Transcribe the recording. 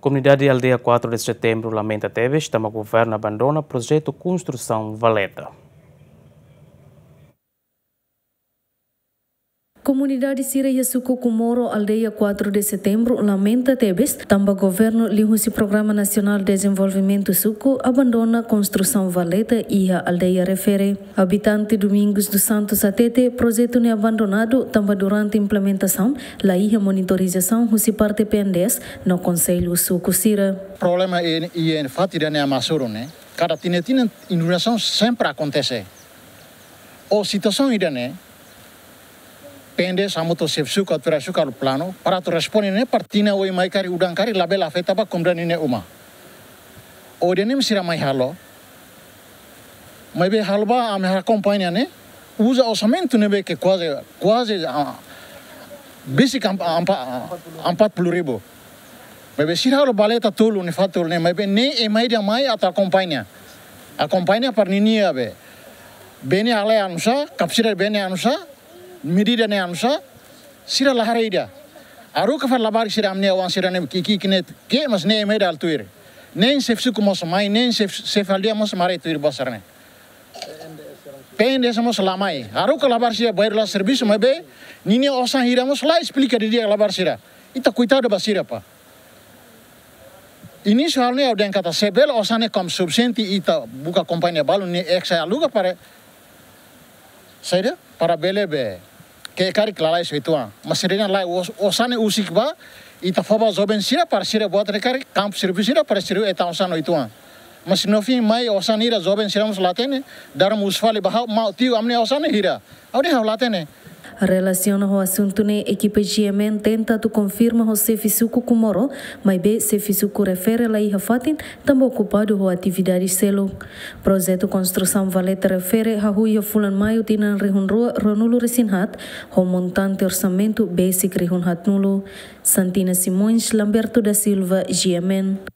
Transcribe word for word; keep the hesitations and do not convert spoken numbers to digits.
Komunidade Aldeia quatro de Setembro lamenta tebes tanba governu abandona projetu konstrusaun valeta. Komunidade sira iha suku Comoro, Aldeia quatro de Setembro, lamenta tebes tanba governu liuhusi Programa Nasionál Dezenvolvimentu Suku abandona konstrusaun valeta iha aldeia refere. Abitante Domingos dos Santos hatete projetu ne'e abandonadu tanba durante implementasaun la iha monitorizasaun husi parte P N D S no konsellu suku sira. Problema i, i, i fatin ida-ne'e hamasuru ne'e, kada tinan-tinan inundasaun sempre akontese. Ho situasaun ida-ne'e, P N D S hamutuk ho xefe suku, autoridade suku halo planu para atu responde ne'e, para tinan oin mai karik, udan karik labele afeta ba komunidade nia uma. Ho ida-ne'e sira mai halo. Maibé halo ba ami akompaña ne'e, uza orsamentu ne'ebé ke kuaze, kuaze, ah, besik am-, ampa-, empat puluh ribu. Maibé sira halo valeta tolu ne'e, fatin tolu ne'e, maibé ne'e ema ida mai atu akompaña. Akompaña para ninia be. Bee ne'e halai oinsá, kapasita bee ne'e oinsá, medida ne'e oinsá, sira la haree ida. Haruka fali labarik sira, ami-nia oan sira-ne'e ki'ik-ki'ik ne'e, ke mas ne'e ema ida halo tuir. Nein xefe suku mós mai, nein xefe, xefe aldeia mós mai haree tuir buat sira-ne'e. P N D S mós la mai. Haruka labarik sira bainhira la servisu, maibé ninia osan hira mós la esplika didi'ak labarik sira. Ita koitadu ba sira, pá. Inísiu halo ne'e ha'u dehan katak se bele osan ne'e konsumsi ita buka kompañia balu ne'e, eksa aluga para saida, para bele be, ke karik lalais oituan. Mas sira-nia lae, os-, osan ne'e husik ba, ita fó ba joven sira para sira buat ne'e karik, kampu servisu sira para sira hetan osan oituan. Mas no fim mai osan ida joven sira mós la hatene, daram husu fali ba ha'u, maun tiu, ami-nia osan ne'e hira. Ha'u dehan ha'u la hatene. Relasiona ho asuntu ne'e, ekipa G M N tenta atu konfirma ho xefe suku Comoro, maibé xefe suku refere la iha fatin, tanba okupadu ho atividade seluk. Projetu konstrusaun valeta refere hahú iha fulan Maiu tinan rihun rua ruanulu resin haat, ho montante orsamentu besik rihun haatnulu. Santina Simões, Lamberto da Silva, G M N.